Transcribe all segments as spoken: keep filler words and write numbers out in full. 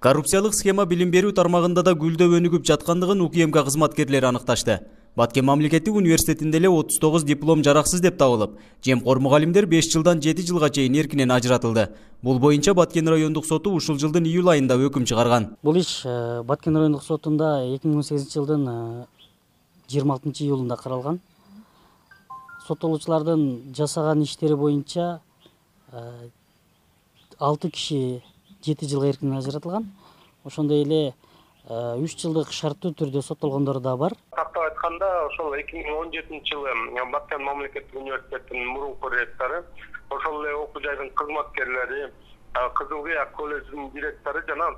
Коррупциялык схема билим берүү тармагында да гүлдөп өнүгүп жаткандыгын УКМК кызматкерлери аныкташты. Баткен мамлекеттик университетинде эле отуз тогуз диплом жараксыз деп табылып, жемкор мугалимдер беш жылдан жети жылга чейин эркинен ажыратылды. Бул боюнча Баткен райондук соту ушул жылдын июль айында өкүм чыгарган. Бул иш Баткен райондук сотунда эки миң он сегизинчи жылдын жыйырма алтынчы июлунда каралган. Соттолуучулардын жасаган иштери боюнча алты киши жети жылга эркинен ажыратылган. Ошондой эле үч жылдык шарттуу түрдө соттолгондор да бар. Тактап айтканда, ошол эки миң он жетинчи жылы Баткен мамлекеттик университетинин мурунку ректору, ошол эле окуу жайдын кызматкерлери, Кызыл Кыяк колледжинин директору жана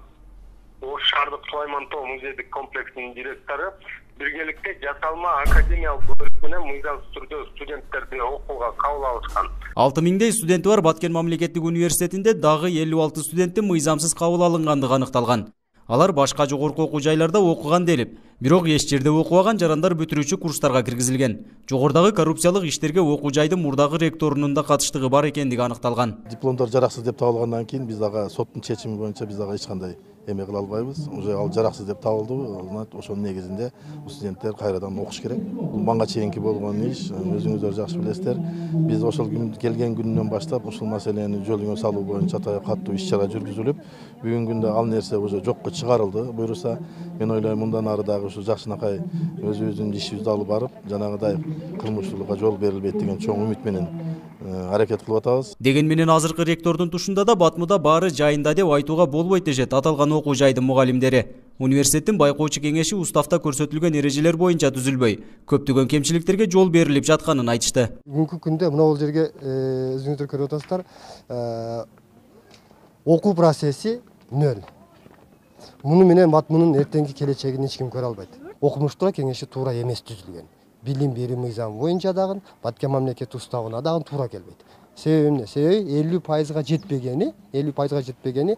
Ош шаардык Сулаймантоо музейдик комплексинин директору биргеликте жасалма академиялык бөлүк менен мыйзамсыз түрдө студенттерди окууга кабыл алышкан. алты миңдей студенти бар Баткен мамлекеттик университетинде дагы элүү алты студенттин мыйзамсыз кабыл алынгандыгы аныкталган. Алар башка жогорку окуу жайларда окуган делип, бирок эч жерде окубаган жарандар бүтүрүүчү курстарга киргизилген. Жогордагы коррупциялык иштерге окуу жайдын мурдагы ректорунун да катыштыгы бар экендиги аныкталган. Дипломдор жараксыз деп табылгандан кийин биз дагы соттун чечими боюнча биз дагы эч кандай эме кыла албайбыз. Уже ал жараксыз деп табылды. Ошонун негизинде студенттер кайрадан окуш керек. Бул мага чейинки болгон иш, өзүңүздөр жакшы билесиздер. Биз ошол күн келген күнүнөн баштап ушул маселени жолуңа салуу боюнча каттуу иш чара жүргүзүлүп, бүгүнкү күндө ал нерсе уже жокко чыгарылды. Буюрса, мен ойлойм мындан ары дагы ушу жакшынакай өзүбүздүн ишибизди алып барып, жанагыдай кылмыштуулукка жол берилбейт деген чоң үмүт менен аракет кылып атабыз. Деген менен азыркы ректордун тушунда да Батмуда баары жайында деп айтууга болбойт дешет аталган окуу жайдын мугалимдери. Университеттин байкоочу кеңеши уставда көрсөтүлгөн эрежелер боюнча түзүлбөй, көптөгөн кемчиликтерге жол берилип жатканын айтышты. Бүгүнкү күндө мына бул жерге өзүңүздөр көрүп атасыздар, окуу процесси нөл. Муну менен Батмунун эртеңки келечегин эч ким көрө албайт. Окумуштуулар кеңеши туура эмес түзүлгөн. Билим берүү мыйзамы боюнча дагы Баткен мамлекеттик уставына дагы туура келбейт. Себеби эмне? Себеби элүү пайызга жетпегени, элүү пайызга жетпегени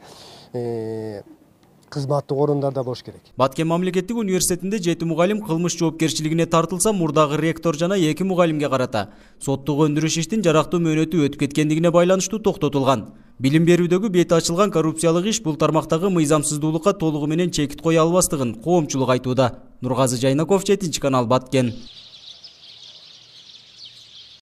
кызматтык орундарда болуш керек. Баткен мамлекеттик университетинде жети мугалим кылмыш жоопкерчилигине тартылса, мурдагы ректор жана эки мугалимге карата соттук өндүрүш иштин жарактуу мөөнөтү өтүп кеткендигине байланыштуу токтотулган. Билим берүүдөгү бети ачылган коррупциялык иш бул тармактагы мыйзамсыздуулукка толугу менен чекит кое албастыгын коомчулук айтууда. Нургазы Жайнаков, жетинчи канал, Баткен.